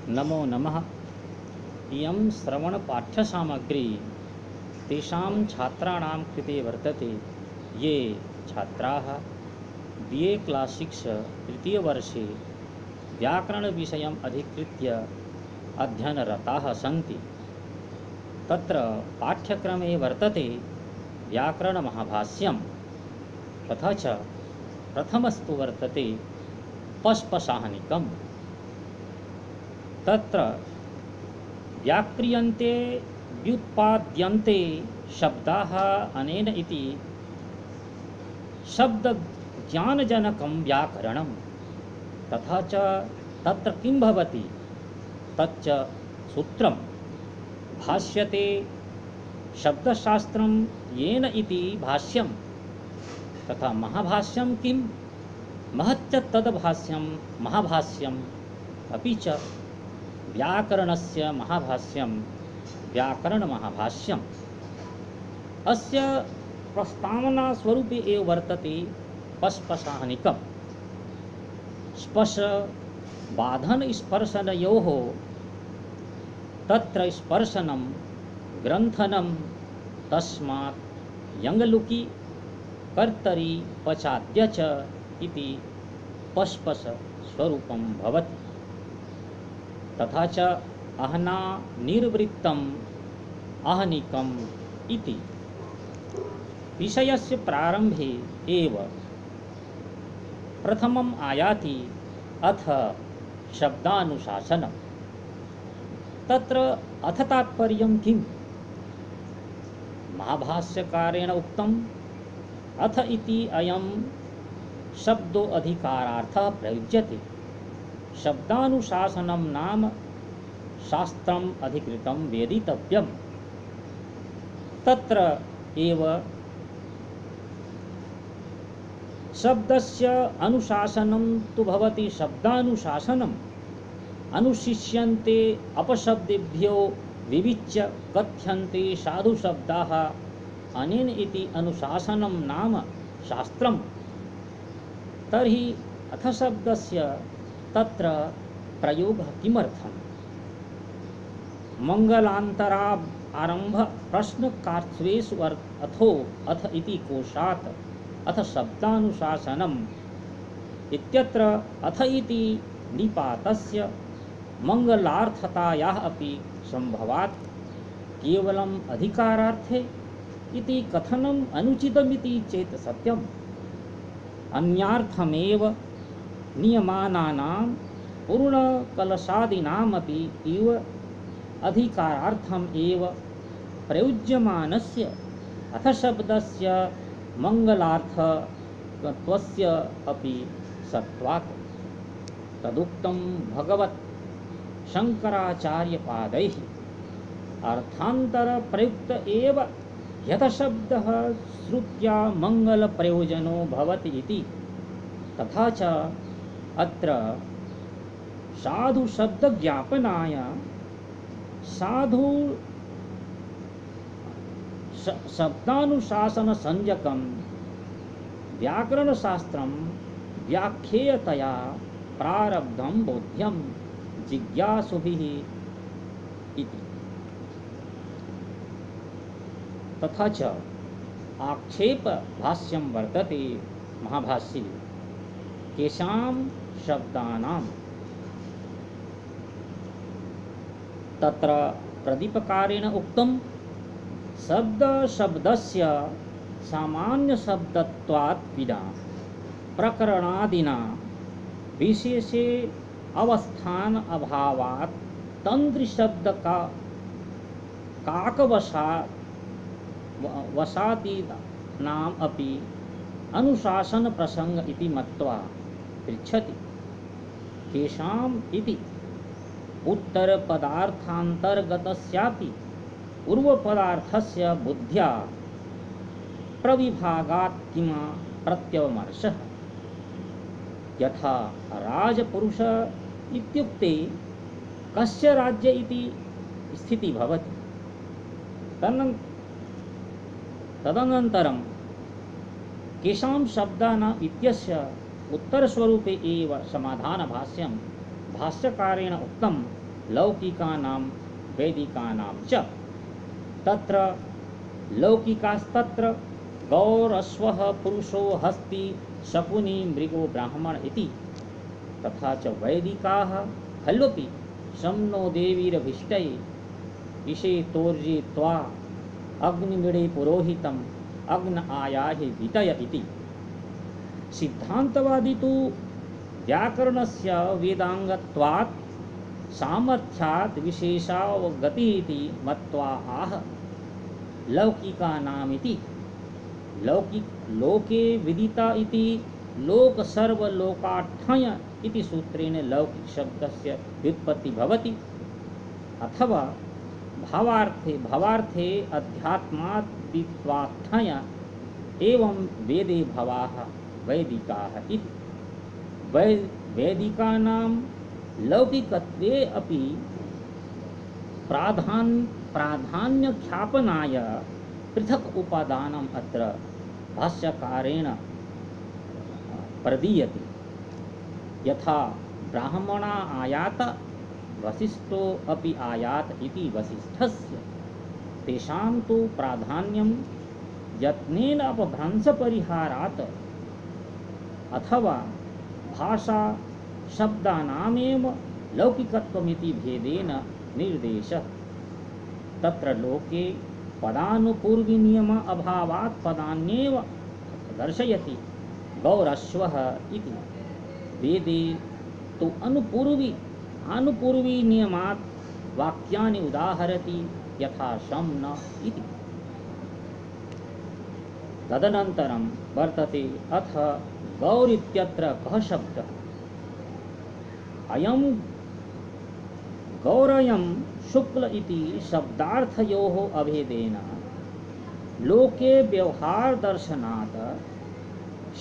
नमो नमः। इयं श्रवणपाठ्यसामग्री तेषां छात्राणां कृते वर्तते ये छात्राः BA क्लास् 6 तृतीयवर्षे व्याकरणविषयम् अधिकृत्य अध्ययनरताः सन्ति। तत्र पाठ्यक्रमे वर्तते व्याकरणमहाभाष्यं, तथा च प्रथमस्तु वर्तते पश्पसाहनिकम्। तत्र व्याक्रियन्ते व्युत्पाद्यन्ते शब्दाः अनेन इति शब्दज्ञानजनकं व्याकरणं। तथा च तत्र किं भवति तच्च सूत्रं भाष्यते शब्दशास्त्रं येन इति भाष्यं। तथा महाभाष्यं किं महच्च तद्भाष्यं महाभाष्यम् अपि च व्याकरणस्य महाभाष्यं व्याकरणमहाभाष्यम्। अस्य प्रस्तावनास्वरूपे एव वर्तते पश्पसाहनिकम्। स्पश बाधन स्पर्शनयोः तत्र स्पर्शनं ग्रंथनं तस्मात् यङ्लुकि कर्तरि पचाद्य च इति पश्पस स्वरूपं भवति। तथा च अहना निर्वृत्तम् आहनिकम् इति विषयस्य प्रारंभे एव प्रथमम् आयाति अथ शब्दानुशासनम्। तत्र अथ तात्पर्यं किम्? महाभाष्यकारेण उक्तम् अथ इति अयं शब्दो अधिकारार्थः प्रयुज्यते। शब्दानुशासनं नाम शास्त्रम् अधिकृतं वेदितव्यम्। तत्र एव शब्दस्य अनुशासनं तु भवति शब्दानुशासनम्। अनुशिष्यन्ते अपशब्देभ्यो विविच्य कथ्यन्ते साधुशब्दाः अनेन इति अनुशासनं नाम शास्त्रम्। तर्हि अथ शब्दस्य तत्र प्रयोगः किमर्थम्? मंगलान्तरात् आरम्भ प्रश्नकार्त्वेषु अथो अथ इति कोशात् अथ शब्दानुशासनम् इत्यत्र अथ इति निपातस्य मंगलार्थतायाः अपि संभवात् केवलम् अधिकारार्थे इति कथनम् अनुचितमिति चेत् सत्यम्। अन्यार्थमेव नियमानानां पूर्णकलशादीनामपि इव अधिकारार्थम् एव प्रयुज्यमानस्य अथ शब्दस्य मंगलार्थत्वस्य अपि सत्वात् तदुक्तं भगवत् शंकराचार्यपादैः अर्थान्तरप्रयुक्त एव यथ शब्दः श्रुत्या मंगलप्रयोजनो भवति इति। तथा च अत्र साधु शब्दज्ञापनाय साधु शब्दानुशासनसंज्ञकं व्याकरणशास्त्रं व्याख्येयतया प्रारब्धं बोध्यं जिज्ञासुभिः इति। तथा च आक्षेप भाष्यं वर्तते महाभाष्ये केषां शब्दानां। तत्र प्रदीपकारेण उक्तं शब्दस्य सामान्य शब्दत्वात् विना प्रकरणादिना विशेषे अवस्थान अभावात् तंत्रिशब्द का वसादीनाम् अपि अनुशासन प्रसंग इति मत्वा पृच्छति। केषाम् इति उत्तरपदार्थान्तर्गतस्यापि पूर्वपदार्थस्य बुद्ध्या प्रविभागात् किमा प्रत्यवमर्शः। यथा राजपुरुष इत्युक्ते कस्य राज्य इति स्थिति भवति। तदनन्तरं केषां शब्दानाम् इत्यस्य उत्तरस्वरूपे एव समाधानभाष्यं भाष्यकारेण उक्तं लौकिकानां वैदिकानां च। तत्र लौकिकास्तत्र गौरश्वः पुरुषो हस्ति शकुनी मृगो ब्राह्मण इति। तथा च वैदिकाः खल्वपि शम्नो देवीरभिष्टये इषेतोर्जे त्वा अग्निमिडे पुरोहितम् अग्न आयाहि वितय इति। सिद्धान्तवादी तु व्याकरणस्य वेदांगत्वात् सामर्थ्यात् विशेषावगतिः इति मत्वा आह लौकिकानामिति। लोके विदिता इति लोक सर्वलोकाठ्य इति सूत्रेण लौकिक शब्दस्य व्युत्पत्ति भवति। अथवा भावार्थे अध्यात्मादित्वार्थ्य एवं वेदे भवाः वैदिकाः इति। वैदिकानां लौकिकत्वे अपि प्राधान्यख्यापनाय पृथक् उपादानम् अत्र भाष्यकारेण प्रदीयते। यथा ब्राह्मणा आयात वसिष्ठो अपि आयात इति वसिष्ठस्य तेषां तु प्राधान्यं यत्नेन अपभ्रंशपरिहारात् अथवा भाषा शब्दानामेव लौकिकत्वमिति भेदेन निर्देशः। तत्र लोके पदानुपूर्वी नियम अभावात् पदान्येव दर्शयति गौरश्वः इति। वेदे तु अनुपूर्वी नियमात् वाक्यानि उदाहरति यथा शं न इति। तदनन्तरं वर्तते अथ गौर इत्यत्र कः शब्दः। अयं गौरयं शुक्ल इति शब्दार्थयोः अभेदेन लोके व्यवहार दर्शनात्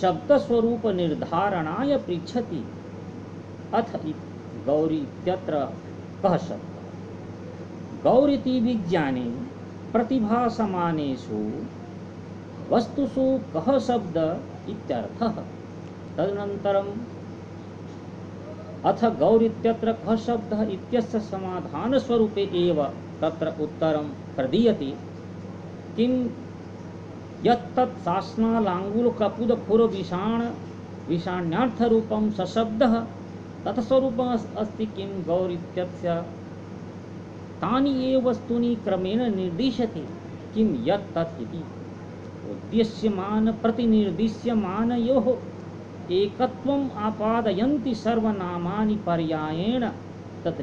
शब्दस्वरूप निर्धारणाय पृच्छति। अथ गौरी इत्यत्र कः शब्दः। गौरिति विज्ञाने प्रतिभासमानेषु वस्तुषु कः शब्द इत्यर्थः। तदनन्तरम् अथ गौर इत्यत्र कः शब्दः इत्यस्य समाधानस्वरूपे एव तत्र उत्तरं प्रदीयते। किं यत्तत् शासनालाङ्गुलकपुदखुरविषाण्यार्थरूपं सशब्दः तत्स्वरूपम् अस्ति। किं गौर इत्यस्य तानि एव वस्तूनि क्रमेण निर्दिशति। किं यत्तत् इति उद्देश्यमान प्रतिनिर्दिश्यमानयोः एकत्वम् आपादयन्ति सर्वनामानि पर्यायेण तत्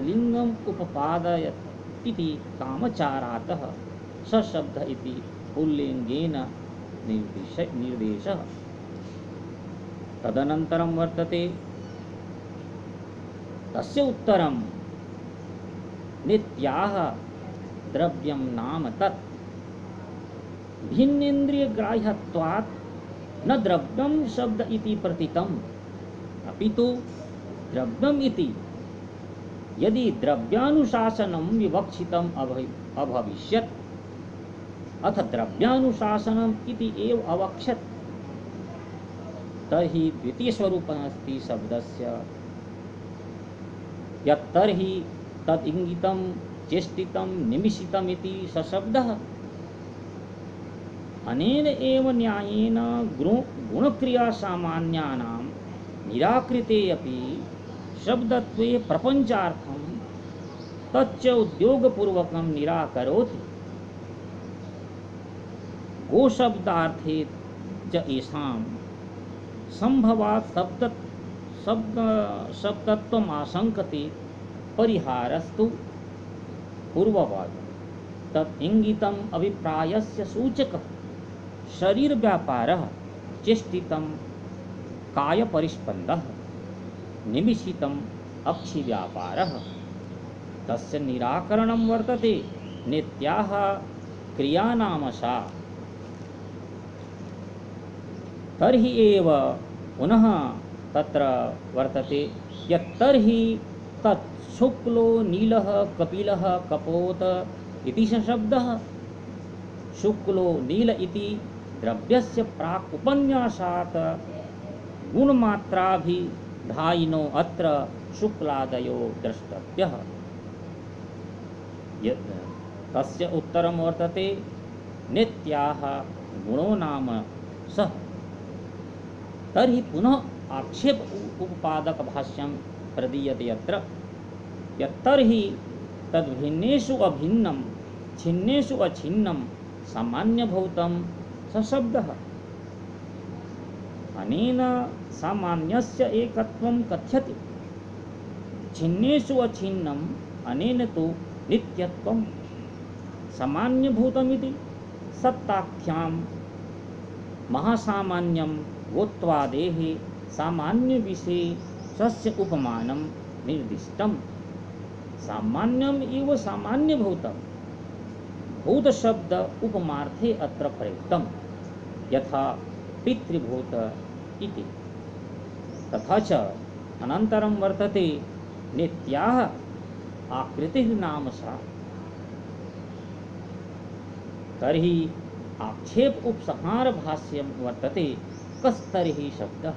उपपादयत् इति कामचारातः सशब्द इति पुल्लिङ्गेन निर्देशः। तदनन्तरं वर्तते तस्य उत्तरं नित्याः द्रव्यं नाम तत् भिन्नेन्द्रियग्राह्यत्वात् न द्रव्यं शब्द इति प्रतीतम् अपितु द्रव्यम् इति यदि द्रव्यानुशासनं विवक्षितम् अभविष्यत् अथ द्रव्यानुशासनम् इति एव अवक्षत् तर्हि द्वितीयस्वरूपमस्ति शब्दस्य यत्तर्हि तद् इंगितं चेष्टितं निमिषितम् इति सशब्दः। अनेन एव न्यायेन गुणक्रियासामान्यानां निराकृते अपि शब्दत्वे प्रपञ्चार्थं तच्च उद्योगपूर्वकं निराकरोति। गोशब्दार्थे च येषां संभवात् शब्दत्वम् आशंकते परिहारस्तु पूर्ववत् तत् इंगितम् अभिप्रायस्य सूचकः शरीर व्यापारः चेष्टितं काय परिस्पन्दः निमिषितम् अक्षि व्यापारः तस्य निराकरणं वर्तते नित्याः क्रियानामशा। तर्हि एव पुनः तत्र वर्तते यत्तर्हि तत् शुक्लो नीलः कपिलः कपोत इति शब्दः। शुक्लो नील इति द्रव्यस्य प्राक् उपन्यासात् गुणमात्राभिधायिनो अत्र शुक्लादयो द्रष्टव्यः। तस्य उत्तरं वर्तते नित्याः गुणो नाम सः। तर्हि पुनः आक्षेप उपपादक भाष्यं प्रदीयते यत्र यत्तर्हि तद्भिन्नेषु अभिन्नं छिन्नेषु अछिन्नं सामान्यभूतं सशब्दः। अनेन सामान्यस्य एकत्वं कथ्यते, छिन्नेषु अछिन्नम् अनेन तु नित्यत्वं। सामान्यभूतमिति सत्ताख्यां महासामान्यं गोत्वादेः सामान्यविशेषस्य उपमानं निर्दिष्टम्। सामान्यम् इव सामान्यभूतं भूतशब्द उपमार्थे अत्र प्रयुक्तं, यथा पितृभूत इति। तथा च अनन्तरं वर्तते नित्याः आकृतिः नाम सा। तर्हि आक्षेप उपसंहार भाष्यं वर्तते कस्तर्हि शब्दः।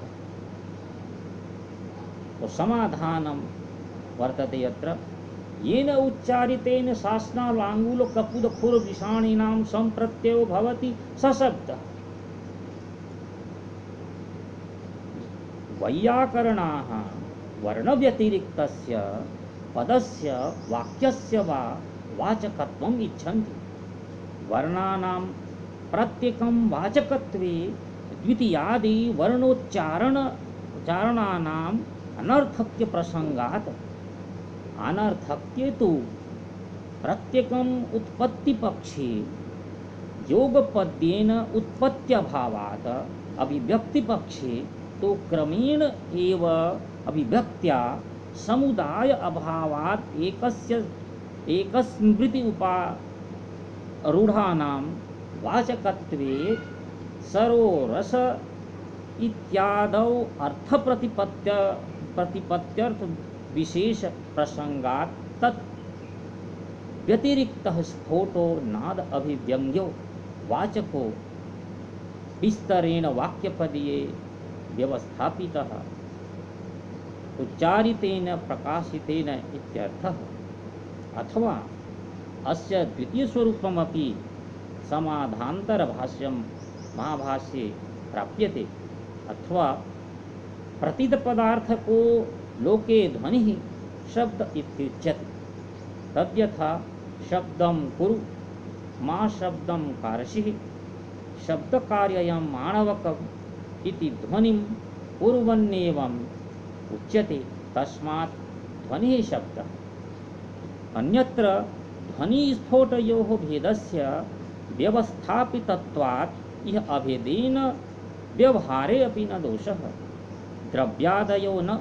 तो समाधानं वर्तते यत्र येन उच्चारितेन शासनालाङ्गूलकपुदखुरविषाणीनां सम्प्रत्ययो भवति सशब्दः। वैयाकरणाः वर्णव्यतिरिक्तस्य पदस्य वाक्यस्य वा वाचकत्वम् इच्छन्ति। वर्णानां प्रत्येकं वाचकत्वे द्वितीयादि वर्णोच्चारणानाम् अनर्थक्य प्रसंगात्। अनर्थक्ये तु प्रत्येकम् उत्पत्तिपक्षे योगपद्येन उत्पत्त्यभावात्, अभिव्यक्तिपक्षे तो क्रमेण एव अभिव्यक्त्या समुदाय अभावात् एकस्मृति उपारूढानां वाचकत्वे सरोरस इत्यादौ अर्थप्रतिपत्त्यर्थ विशेष प्रसंगात् तत् व्यतिरिक्तः स्फोटो नाद अभिव्यंग्यो वाचको विस्तरेण वाक्यपदीये व्यवस्थापितः उच्चारितेन प्रकाशितेन इत्यर्थः। अथवा अस्य द्वितीयस्वरूपमपि समाधान्तरभाष्यं महाभाष्ये प्राप्यते। अथवा प्रतीतपदार्थको लोके ध्वनिः शब्द इत्युच्यते। तद्यथा शब्दं कुरु मा शब्दं कारषिः शब्दकार्ययं माणवकम् इति ध्वनिं कुर्वन्नेवम् उच्यते। तस्मात् ध्वनिः शब्दः। अन्यत्र ध्वनिस्फोटयोः भेदस्य व्यवस्थापितत्वात् इह अभेदेन व्यवहारे अपि न दोषः। द्रव्यादयो न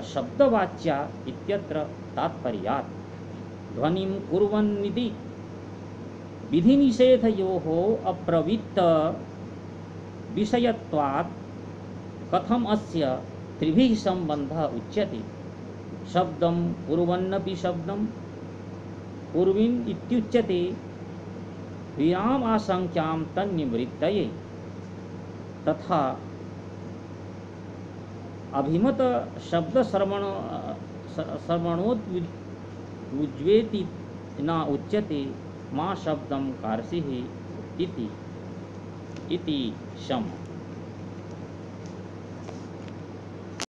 शब्दवाच्या इत्यत्र तात्पर्यात्। ध्वनिं कुर्वन्निति विधिनिषेधयोः अप्रवृत्त विषयत्वात् कथम् अस्य त्रिभिः सम्बन्धः उच्यते। शब्दं कुर्वन्नपि शब्दं कुर्विन् इत्युच्यते विराम आशंक्यां तन्निवृत्तये। तथा अभिमत शब्द श्रवणोद्वेति न उच्यते मा शब्दं कारषिः इति शम्।